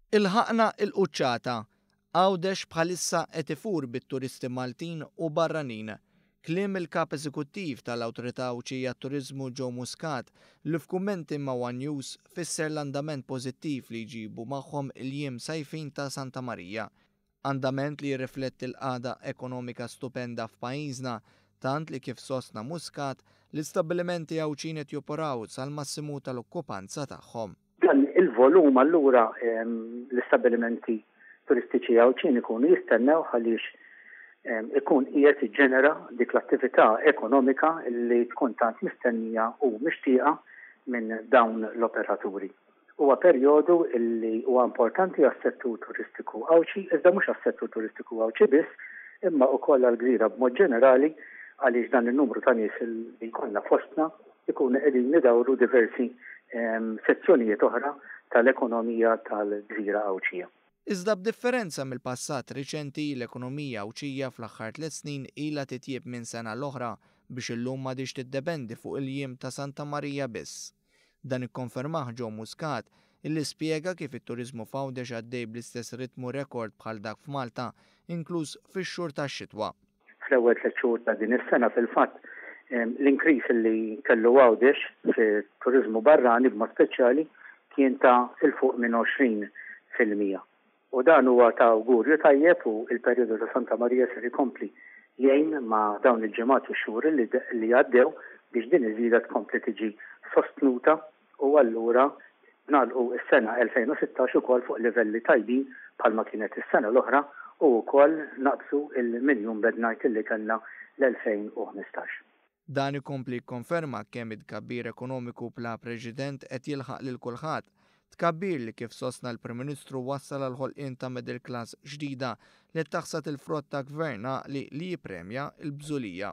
Ilħaqna il-quċċata. Għawdex bħalissa qed ifur bit-turisti Maltin u barranin. Kliem il-Kap Eżekuttiv tal-Awtorità Għawdxija għat-Turiżmu Joe Muscat li f'kummenti ma' one News fisser l-andament pożittiv li jġibu magħhom il-jiem sajfin ta' Santa Marija. Andament li jirrifletti l-qagħda ekonomika stupenda f'pajjiżna, tant li kif sostna Muscat, l-istabbilimenti Għawdxin qed joperaw sal-massimu tal-okkupanza tagħhom. Dan il-volum allura l-istabbilimenti turistiċi Għawdxin ikunu jistennewh għaliex ikun qiegħed jiġġenera dik l-attività ekonomika li tkun tant mistennija u mixtieqa minn dawn l-operaturi. Huwa perjodu li huwa importanti għas-settur turistiku Għawdxi, iżda mhux għas-settur turistiku Għawdxi biss, imma wkoll għall-gżira b'mod ġenerali għaliex dan in-numru ta' nies li jkollna fostna jkunu qegħdin idawru diversi sezzjonijiet oħra tal-ekonomija tal-gżira Għawdxija. Iżda b'differenza mill-passat riċenti, l-ekonomija Għawdxija fl-aħħar tliet snin ilha titjieb minn sena l-oħra biex illum m'għadhiex tiddependi fuq il-jiem ta' Santa Marija biss. Dan ikkonfermah Joe Muscat, illi spjega kif it-turiżmu f'Għawdex għaddej bl-istess ritmu rekord bħal dak f'Malta, inkluż fix-xhur tax-xitwa. Fl-ewwel tliet xhur ta' din is-sena fil-fatt, l-increase li kellu Għawdex fit-turiżmu barrani b'mod speċjali kien ta' 'l fuq minn 20%. U dan huwa ta' awgurju tajjeb u l-perjodu ta' Santa Marija ser ikompli jgħin ma' dawn il-ġimgħat u x-xhur li għaddew biex din iż-żieda tkompli tiġi sostnuta u allura nagħlqu s-sena 2016 ukoll fuq livelli tajbin bħalma kienet is-sena l-oħra u wkoll naqbżu l-miljun bed night li kellna l-2015. Dan ikompli jikkonferma kemm it-tkabbir ekonomiku bla preċedent qed jilħaq lil kulħadd. Tkabbir li kif sostna l-Prim Ministru wassal għall-ħolqien ta' middle class ġdida li qed taħsad il-frott ta' gvern għaqli li jippremja l-bżulija.